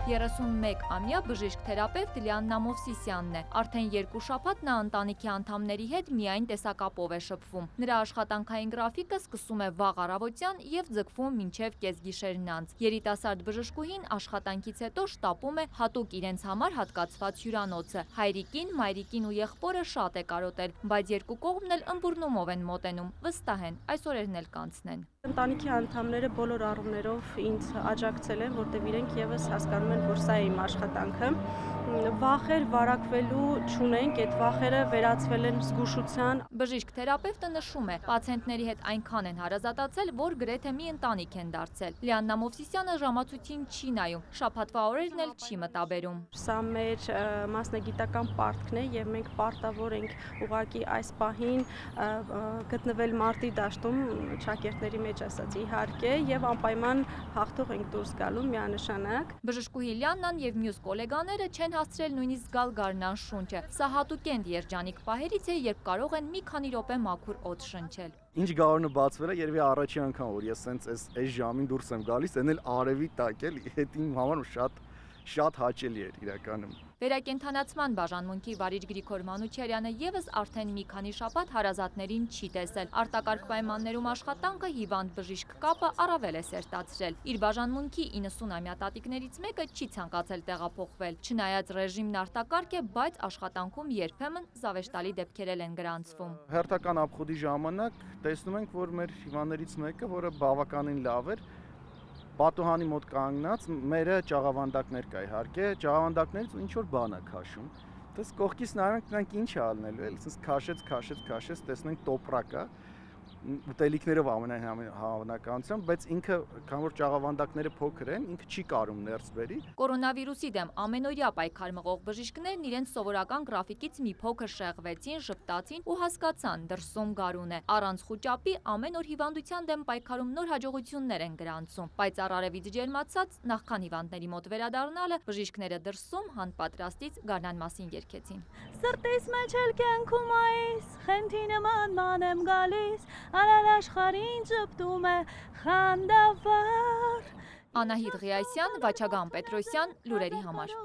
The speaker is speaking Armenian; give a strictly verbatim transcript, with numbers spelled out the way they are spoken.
երեսունմեկամյա բժիշկ-թերապևտ Լիաննա Մովսիսյանն է։ Արդեն երկու շաբաթ նա ընտանիքի անդամների հետ միայն տեսակապով է շփվում։ Նրա աշխատանքային գրաֆիկը սկսում է վաղ առավոտյան և ձգվում մինչև կեսգիշերն անց։ Երիտասարդ բժշկուհին աշխատանքից հետո շտապում է հատուկ իրենց համար հատկացված հյուրանոցը։ Հայրիկին, մայրիկին ու եղբորը շատ է կարոտել, բայց երկու կողմն էլ ըմբռնումով են մոտենում, վստահ են այս օրերն էլ կանցնեն։ Ընտանիքի անդամները բոլոր առումներով ինձ աջակցել են, որտեղ իրենք եւս հասկանում են, որ սա է իմ աշխատանքը։ Վախեր վարակվելու չունենք, այդ վախերը վերածվել են զգուշության։ Բժիշկ-թերապևտը նշում է, պացիենտների հետ այնքան են հարազատացել, որ գրեթե մի ընտանիք են դարձել։ Լիաննա Մովսիսյանը ժամացույցին չի նայում, շաբաթվա օրերն էլ չի մտաբերում։ Սա մեր մասնագիտական պարտքն է եւ մենք պարտավոր ենք ուղղակի այս պահին գտնվել մարտի դաշտում շակերտների մեջ ասած իհարկե եւ անպայման հաղթող ենք դուրս գալու միանշանակ։ Բժշկուհի Լիաննան եւ մյուս գոլեգաները չեն հասցրել նույնիսկ զգալ գարնան շունչը։ Սա հատուկենտ երջանիկ պահերից է, երբ կարող են մի քանի րոպե մաքուր օդ շնչել։ Ինչ գարունը բացվել է, երևի առաջի անգամ որ ես սենց այս այս ժամին դուրս եմ գալիս, այն էլ արևի տակ էլ, այդ իմ համար շատ շատ հաճելի էր իրականում։ Վերակենդանացման բաժանմունքի վարիչ Գրիգոր Մանուչարյանը եւս արդեն մի քանի շաբաթ հարազատներին չի տեսել։ Արտակարգ պայմաններում աշխատանքը հիվանդ բժիշկ կապը առավել է սերտացրել։ Իր բաժանմունքի իննսունամյա տատիկներից մեկը չի ցանկացել տեղափոխվել։ Չնայած ռեժիմն արտակարգ է, բայց աշխատանքում երբեմն զավեշտալի դեպքեր են գրանցվում։ Հերթական ապխոդի ժամանակ տեսնում ենք, որ մեր հիվանդներից մեկը, որը բավականին լավ էր, պատուհանի մոտ կանգնած, մերը ճաղավանդակներ կա իհարկե, ճաղավանդակներից ինչ որ բան է քաշում։ Դες կողքից նայում ենք ինչ է ալնելու, էլ ասես քաշեց, քաշեց, քաշեց, տեսնենք տոպրակ է, ուտելիքներով ամենայն հավանականությամբ, բայց ինքը, քան որ ճաղավանդակները փոքր են, ինքը չի կարում ներս բերի։ Կորոնավիրուսի դեմ ամենօրյա պայքար մղող բժիշկներն իրենց սովորական գրաֆիկից մի փոքր շեղվեցին, ժպտացին ու հասկացան դրսում գարուն է։ Առանց խուճապի ամեն օր հիվանդության դեմ պայքարում նոր հաջողություններ են գրանցում, բայց առարևից ջերմացած նախքան հիվանդների մոտ վերադառնալը բժիշկները դրսում հանպատրաստից գարնան մասին երգեցին։ Սրտիս մեջ էլ կյանքում այս խենթի նման ման եմ գալիս, արար աշխարհին ճպտում է խանդավառ։ Անահիտ Ղիասյան, Վաչագան Պետրոսյան, լուրերի համար։